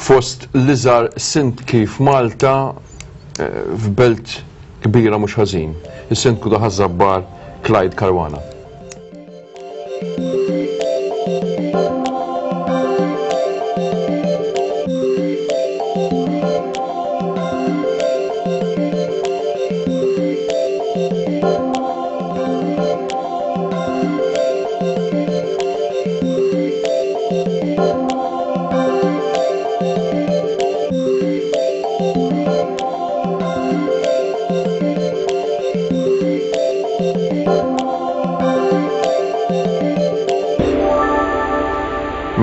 Fost l-iżgħar sindki f'Malta f'belt kbira mhux ħażin, is-Sindku ta' Ħaż-Żabbar Clyde Caruana.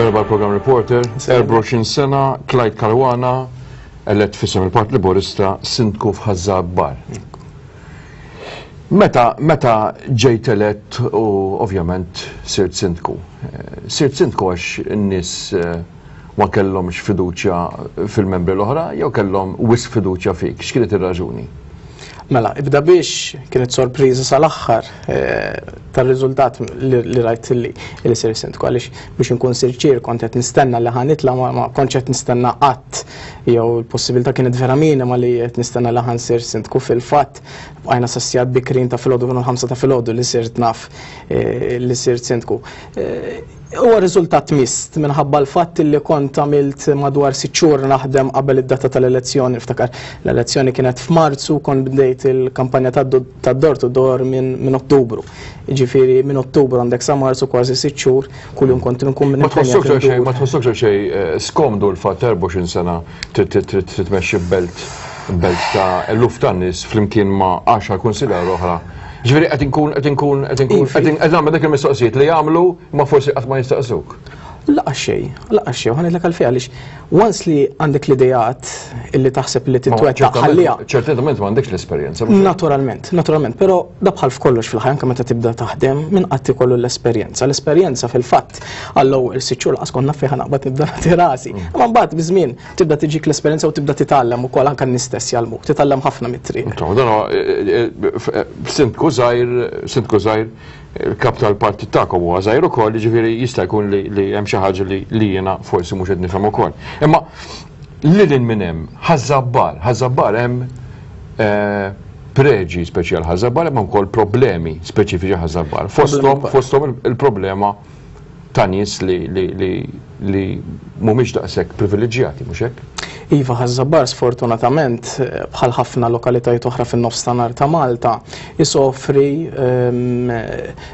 Merba l-Program Reporter, 24 sena, Clyde Caruana, elett f'isem il-Partit Laburista, sindku f'Ħaż-Żabbar. Meta, meta ġejt elett u ovvjament sirt sindku. Sirt sindku għax in-nies ma kellhomx fiduċja fil-membri l-oħra jew kellhom wisq fiduċja fik? X'kienet ir-raġuni? Mela, ibda biex kienet sorpriża sal-aħħar eh, tar-riżultat li rajt li li sir sindku għaliex biex inkun sirċir kont qed nistenna li ħanitla ma kontx qed nistenna qatt jew il-possibilità kienet vera minima li qed nistenna li ħansir sindku fil-fatt bqajna sassijat bikrin ta' filgħodu kienu l-ħamsa ta' filgħodu li sirt naf eh, li sirt sindku. Eh, huwa riżultat mist minħabba l-fatt li kont għamilt madwar sitt xhur naħdem qabel id-data tal-elezzjoni. Niftakar l-elezzjoni kienet f'Marzu, kont bdejt il-kampanja tad-door to door minn Ottubru. Ġifieri minn Ottubru għandek sa Marzu kważi sitt xhur kuljum kont nkun minn Ma tħossokx xejn, ma tħossokx xejn eh, skomdu l-fatt 24 sena trid tmexxi belt belt ta' eluf ta' nies flimkien ma' 10 kunsillar oħra. Ġifieri qed inkun qed inkun qed inkun qed nagħmel dak il-mistoqsijiet li jagħmlu ma forsi qatt ma jistaqsuk. Laqa xej, laqa xej, ħa ngħidlek għalfejn għaliex once li għandek l-idejat illi taħseb li titwettaq ħalliha. Ċertament m'għandekx l-esperjenza. Naturalment, naturalment, però da bħal f'kollox fil-ħajja anke meta tibda taħdem minn qatt ikollu l-esperjenza. L-esperjenza fil-fatt għall-ewwel sitt xhur laqas kont naf fejn naqbad nibda nagħti rasi. Mm. Imma mbagħad biż-żmien tibda tiġik l-esperjenza u tibda titgħallem ukoll anke n-nies stess jgħallmuk, titgħallem ħafna mit-triq. Eh, eh, sindku żgħir, sindku żgħir, il-kap tal-partit tagħkom huwa żgħir ukoll, jiġifieri jista' jkun li hemm xi ħaġa li jiena forsi mhux qed nifhem ukoll. Imma lil hinn minn hemm Ħaż-Żabbar, Ħaż-Żabbar hemm eh, preġi speċjal Ħaż-Żabbar hemm ukoll problemi speċifiċi Ħaż-Żabbar. Fosthom fosthom il-problema ta' nies li li li li mhumiex daqshekk privileġġjati, mhux hekk? Iva, Ħaż-Żabbar sfortunatament, bħal ħafna lokalitajiet oħra fin-nofstanhar ta' Malta, isofri ehm,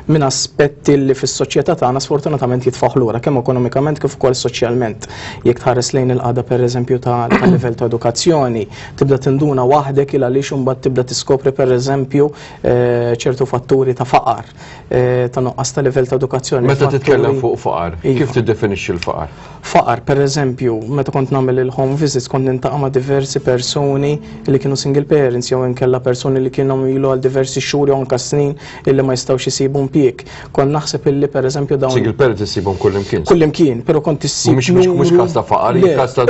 minn aspetti li fis-soċjetà tagħna sfortunatament jitfgħuh lura kemm ekonomikament kif ukoll soċjalment. Jekk tħares lejn il-qagħda pereżempju ta' livell ta' edukazzjoni, tibda tinduna waħdek il għaliex imbagħad tibda tiskopri pereżempju eh, ċertu fatturi ta' faqar Eh, ta' nuqqas ta' livell ta' edukazzjoni. Meta titkellem fuq faqar, iva. kif tiddefinixxi l-faqar? Faqar, per eżempju, meta kont nagħmel il-home visits kont nintaqa' ma' diversi persuni li kienu single parents jew inkella persuni li kienu ilu għal diversi xhur jew anke snin illi ma jistgħux isibu impjieg. Kont naħseb illi per eżempju dawn Single parents issibhom kullimkien. Kullimkien, però kont issib. Mhux każ ta' faqar, każ ta'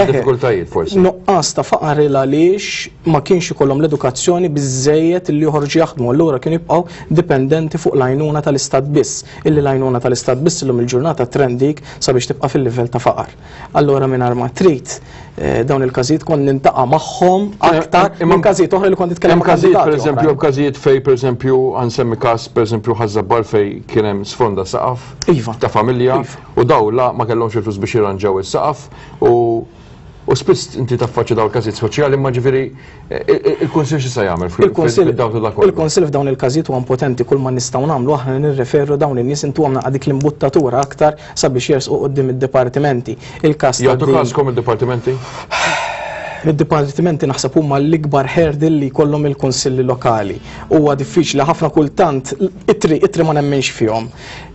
diffikultajiet forsi. Nuqqas ta' faqar il għaliex ma kienx ikollhom l-edukazzjoni biżejjed li joħorġu jaħdmu, allura kienu jibqgħu dipendenti fuq l-għajnuna tal-Istat biss, illi l-għajnuna tal-Istat biss illum il-ġurnata trendik sabiex tibqa' fil-livell ta' faqar. Allura mingħajr ma trid eh, dawn il-każijiet kont nintaqa' magħhom aktar minn każijiet oħra li kont nitkellem ma' każijiet pereżempju hemm każijiet fej pereżempju nsemmi każ pereżempju Ħaż-Żabbar fej kien hemm sfronda saqaf iva. ta' familja iva. u daw la ma kellhomx il-flus biex jirranġaw is-saqaf u U spiss inti taffaċċja dawn il-każijiet soċjali imma ġifieri il-Kunsill x'jista' jagħmel fid-dawl ta' dak kollu? Il-Kunsill f'dawn il-każijiet huwa impotenti kull ma nistgħu nagħmlu aħna nirreferu dawn in-nies intuhom naqra dik l-imbuttatura aktar sabiex jersqu quddiem id-dipartimenti. Il-każ ta' Jagħtu każkom id-dipartimenti? Id-dipartimenti naħseb huma l-ikbar hurdle li jkollhom il-kunsilli lokali. Huwa diffiċli ħafna kultant ittri ittri ma nemminx fihom.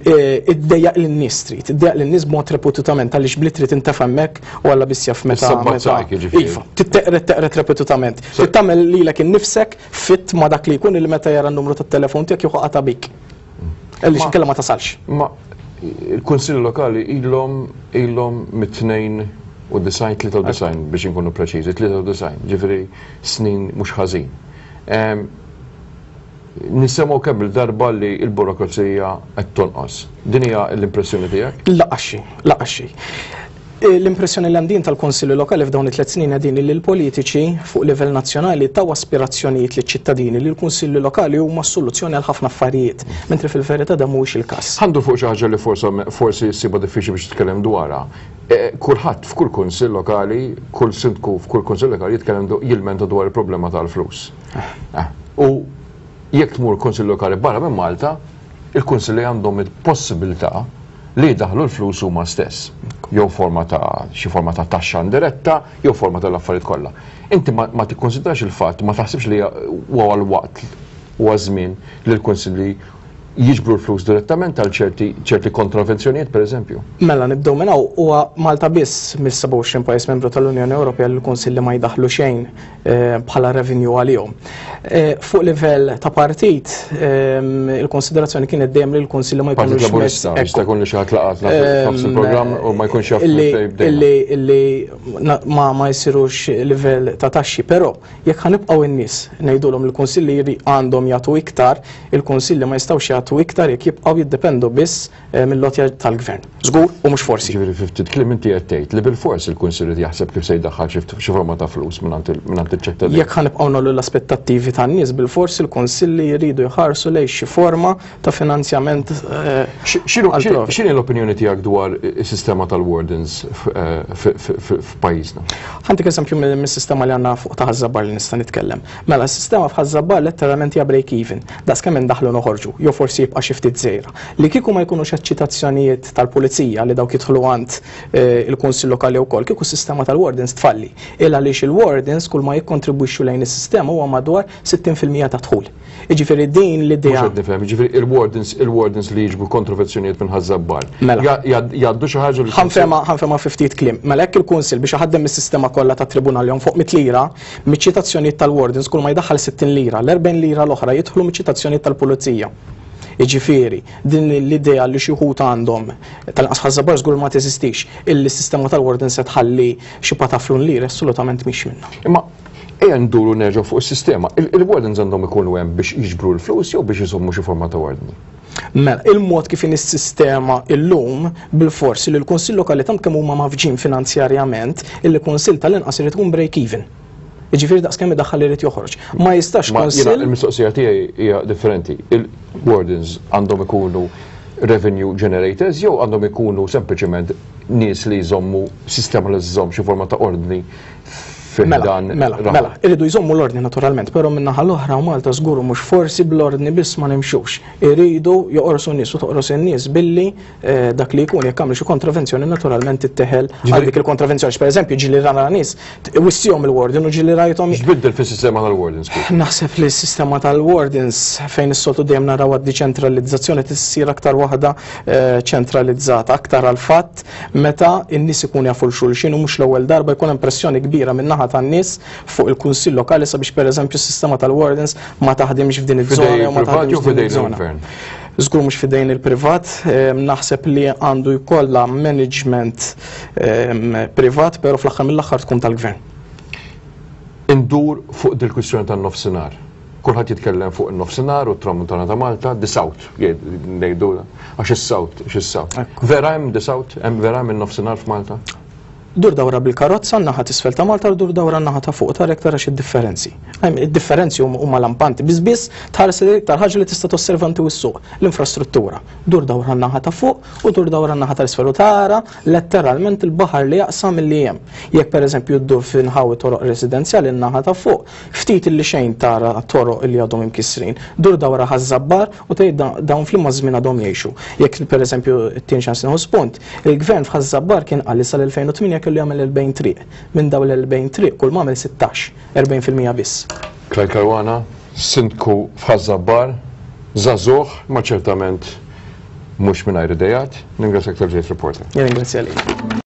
E, iddejjaq lin-nies trid, iddejjaq lin-nies b'mod repututament għaliex bl-ittri tintefa' hemmhekk u Alla biss jaf meta. Iva, titteqret teqret repetutament. Trid tagħmel lilek innifsek fit ma' dak li jkun li meta jara n-numru tat-telefon tiegħek jieħu qata' bik. Għaliex inkella ma tasalx. Ma il-Kunsilli Lokali ilhom ilhom mit-tnejn u disgħin, 93 biex inkunu preċiżi, 93, ġifieri snin mhux ħażin. Nisemgħu kemm il-darba li l-burokrazija qed tonqos. Din hija l-impressjoni tiegħek? Laqas xejn, laqas xejn. L-impressjoni li għandin tal-Konsilli Lokali f'dawn it-tliet snin qegħdin li l-politiċi fuq livell nazzjonali taw aspirazzjonijiet liċ-ċittadini li l-Kunsilli Lokali huma s-soluzzjoni għal ħafna affarijiet, mentri fil-verità dan mhuwiex il-każ. Ħa ndur fuq xi ħaġa li forsi ssibha diffiċli biex titkellem dwarha. Kulħadd f'kull kunsill lokali, kull sindku f'kull kunsill lokali jitkellem jilmenta dwar il-problema tal-flus. U jekk tmur kunsill lokali barra minn Malta, il-kunsilli għandhom il-possibilità li jdaħħlu l-flus huma stess. Jew forma ta' xi forma ta' taxxa indiretta, jew forma tal-affarijiet kollha. Inti ma, ma tikkonsidrax il-fatt, ma taħsibx li huwa l-waqt huwa żmien li l-kunsilli jiġbru l-flus direttament għal ċerti ċerti kontravenzjonijiet pereżempju? Mela nibdew minn hawn huwa Malta biss mill-27 pajjiż membru tal-Unjoni Ewropea li l-Kunsilli ma jdaħħlu xejn bħala revenue għalihom. Fuq livell ta' partit, il-konsiderazzjoni kienet dejjem li l-Kunsilli ma jkunux. Partit Laburista, jista' jkun li xi ħadd laqat nofs il-programm u ma jkunx jaf Illi ma jsirux livell ta' taxxi, però jekk ħa nibqgħu in-nies ngħidulhom il-Kunsilli għandhom jagħtu iktar, il-Kunsilli ma jistgħux jagħtu iktar jekk jibqgħu jiddependu biss mill-għotja tal-gvern. Żgur u mhux forsi. Ġifieri fi ftit kliem inti qed tgħid li bilfors il-Kunsill irid jaħseb kif se jdaħħal xi forma ta' flus mingħand iċ-ċittadin. Jekk ħa nibqgħu nagħlu l-aspettattivi tan-nies bilfors il-Kunsilli jridu jħarsu lejn xi forma ta' finanzjament. X'inhi l-opinjoni tiegħek dwar is-sistema tal-wardens f'pajjiżna? Ħa ntik eżempju mis-sistema li għandna fuq ta' Ħaż-Żabbar li nista' nitkellem. Mela s-sistema f'Ħaż-Żabbar letteralment hija break even. Daqs kemm indaħħlu noħorġu, jew forsi jibqa' xi ftit żgħira. Li kieku ma jkunux eċċitazzjonijiet tal-pulizija li dawk jidħlu għand il-Kunsill Lokali wkoll, kieku s-sistema tal-wardens tfalli. Il għaliex il-wardens kull ma jikkontribwixxu lejn is-sistema huwa madwar 60% tad-dħul. Jiġifieri din l-idea. Mhux qed nifhem, jiġifieri il-wardens il-wardens li jiġbu kontrovenzjonijiet minn Ħaż-Żabbar. Mela. Jgħaddu xi ħaġa li. Ħa nfehmha ħa nfehmha fi ftit kliem. Mela jekk il-Kunsill biex iħaddem is-sistema kollha tat-tribunal jonfoq mitt lira, Miċ-ċitazzjonijiet tal-wardens kull ma jdaħħal 60 lira, l-40 lira l-oħra jidħlu miċ-ċitazzjonijiet tal-pulizija. Jiġifieri, din l-idea li xi wħud għandhom, tal-inqas f'Ħaż-Żabbar żgur ma teżistix, illi s-sistema tal-wardens se tħalli xi pataflun liri assolutament mhix minnha. Imma ejja nduru nerġgħu fuq is-sistema. Il-wardens għandhom ikunu hemm biex jiġbru l-flus jew biex iżommu xi forma ta' ordni? Mela, il-mod kif inhi s-sistema illum, bilfors li l-Kunsill Lokali tant kemm huma mgħaffġin finanzjarjament, illi kunsill tal-inqas irid ikun break even. Jiġifieri daqs kemm idaħħal irid joħroġ. Ma jistax kunsill. Il-mistoqsija tiegħi hija differenti. Il-wardens għandhom ikunu revenue generators jew għandhom ikunu sempliċement nies li jżommu sistema li żżomm xi forma ta' ordni Mela, mela, mela, irridu jżommu l-ordni naturalment, però min-naħa l-oħra u Malta żgur u mhux forsi bl-ordni biss ma nimxux. Iridu joqorsu n-nies u toqros in-nies billi eh, dak li jkun jekk għamlu xi kontravenzjoni naturalment titteħel għal dik il-kontravenzjoni. Per eżempju, ġieli rana nies wissihom il-warden u ġieli rajthom. X'biddel fis-sistema tal-wardens? Naħseb li s-sistema tal-wardens fejn is-soltu dejjem naraw għad-deċentralizzazzjoni tissir aktar waħda eh, ċentralizzata, aktar għal fatt meta n-nies ikun jafu l-xulxin u mhux l-ewwel darba jkun hemm pressjoni kbira min-naħa tan-nies fuq il-Kunsill Lokali sabiex pereżempju s-sistema tal-wardens ma taħdimx f'din iż-żona jew ma taħdimx f'din iż-żona. Żgur mhux f'idejn il-privat, naħseb li għandu jkollha management privat, però fl-aħħar mill-aħħar tkun tal-gvern. Indur fuq dil-kwistjoni tan-nofsinhar. Kulħadd jitkellem fuq in-nofsinhar u t-tramuntana ta' Malta, the South, ngħidu għax is-South, għax is-South. Vera hemm the South, hemm vera hemm in-nofsinhar f'Malta? Dur dawra bil-karozza n-naħa t'isfel ta' Malta u dur dawra n-naħa ta' fuq tara jekk tarax id-differenzi. Id-differenzi huma lampanti. Biss biss tħares lejn l-iktar ħaġa li tista' tosserva inti u s-suq, l-infrastruttura. Dur dawra n-naħa ta' fuq u dur dawra n-naħa tal-isfel u tara letteralment il-baħar li jaqsam milli hemm. Jekk pereżempju ddur f'inħawi toroq residenzjali n-naħa ta' fuq, ftit illi xejn tara toroq li għadhom imkissrin. Dur dawra Ħaż-Żabbar u tgħid dawn f'liema żmien għadhom jgħixu. Jekk pereżempju tien ċans nieħu spunt, il-gvern f'Ħaż-Żabbar kien qal li sal-2008 kellu jagħmel 40 triq. Minn dawn l-40 triq kull m'għamel 16, 40% biss. Clyde Caruana, Sindku f'Ħaż-Żabbar, żagħżugħ imma ċertament mhux mingħajr ideat. Ningrazzjak talli ġejt Reporter. Jien ningrazzja lilek.